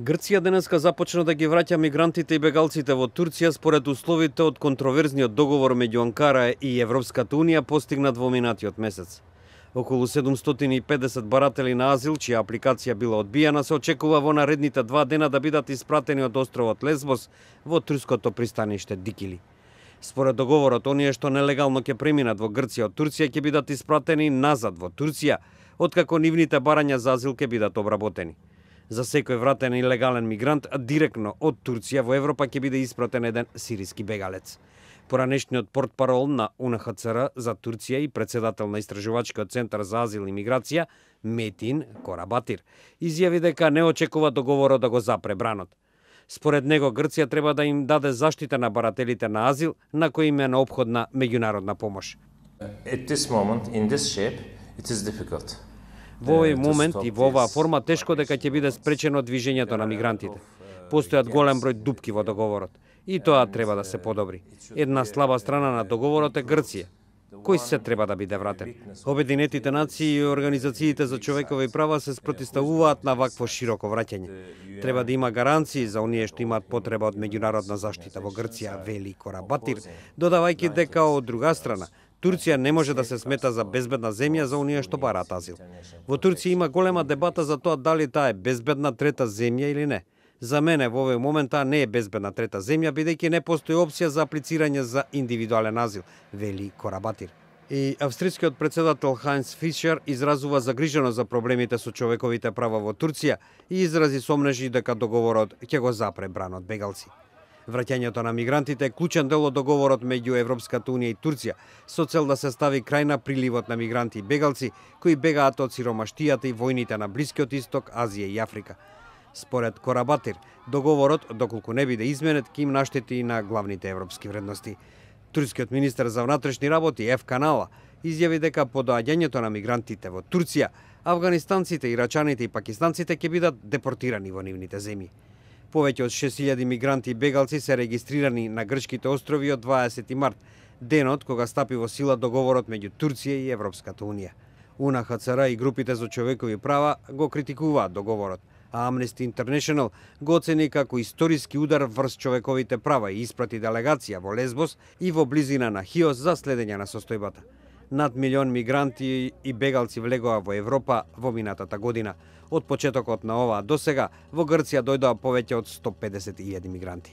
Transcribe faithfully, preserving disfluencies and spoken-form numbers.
Грција денеска започна да ги враќа мигрантите и бегалците во Турција според условите од контроверзниот договор меѓу Анкара и Европската унија постигнат во минатиот месец. Околу седумстотини и педесет баратели на азил, чија апликација била одбиена, се очекува во наредните два дена да бидат испратени од островот Лесбос во турското пристаниште Дикили. Според договорот, оние што нелегално ќе преминат во Грција од Турција ќе бидат испратени назад во Турција, откако нивните барања за азил ќе бидат обработени. За секој вратен илегален мигрант директно од Турција во Европа ќе биде испратен еден сириски бегалец. Поранешниот портпарол на У Н Х Ц Р за Турција и председател на Истражувачкиот центар за азил и миграција, Метин Корабатир, изјави дека не очекува договорот да го запре бранот. Според него, Грција треба да им даде заштита на барателите на азил, на кои им е неопходна меѓународна помош. At this moment, in this shape, it is difficult. Во овој момент и во оваа форма тешко дека ќе биде спречено движењето на мигрантите. Постојат голем број дупки во договорот и тоа треба да се подобри. Една слаба страна на договорот е Грција, кој се треба да биде вратен. Обединетите нации и организациите за човекови права се спротивставуваат на вакво широко враќање. Треба да има гаранции за оние што имаат потреба од меѓународна заштита во Грција, вели Корабатир, додавајќи дека од друга страна Турција не може да се смета за безбедна земја за оние што бараат азил. Во Турција има голема дебата за тоа дали таа е безбедна трета земја или не. За мене во овој момент таа не е безбедна трета земја, бидејќи не постои опција за аплицирање за индивидуален азил, вели Корабатир. И австрискиот председател Хайнц Фишер изразува загриженост за проблемите со човековите права во Турција и изрази сомнежи дека договорот ќе го запре бранот бегалци. Враќањето на мигрантите е клучен дел од договорот меѓу Европската унија и Турција, со цел да се стави крај на приливот на мигранти и бегалци кои бегаат од сиромаштијата и војните на Блискиот Исток, Азија и Африка. Според Корабатир, договорот, доколку не биде изменет, ќе им наштети и на главните европски вредности. Турскиот министер за внатрешни работи Еф Канала изјави дека по доаѓањето на мигрантите во Турција, афганистанците, ирачаните и пакистанците ќе бидат депортирани во нивните земји. Повеќе од шест илјади мигранти и бегалци се регистрирани на грчките острови од дваесети март, денот кога стапи во сила договорот меѓу Турција и Европската унија. У Н Х Ц Р и групите за човекови права го критикуваат договорот, а Amnesty International го оцени како историски удар врз човековите права и испрати делегација во Лесбос и во близина на Хиос за следење на состојбата. Над милион мигранти и бегалци влегоа во Европа во минатата година. Од почетокот на оваа досега во Грција дојдоа повеќе од сто педесет илјади мигранти.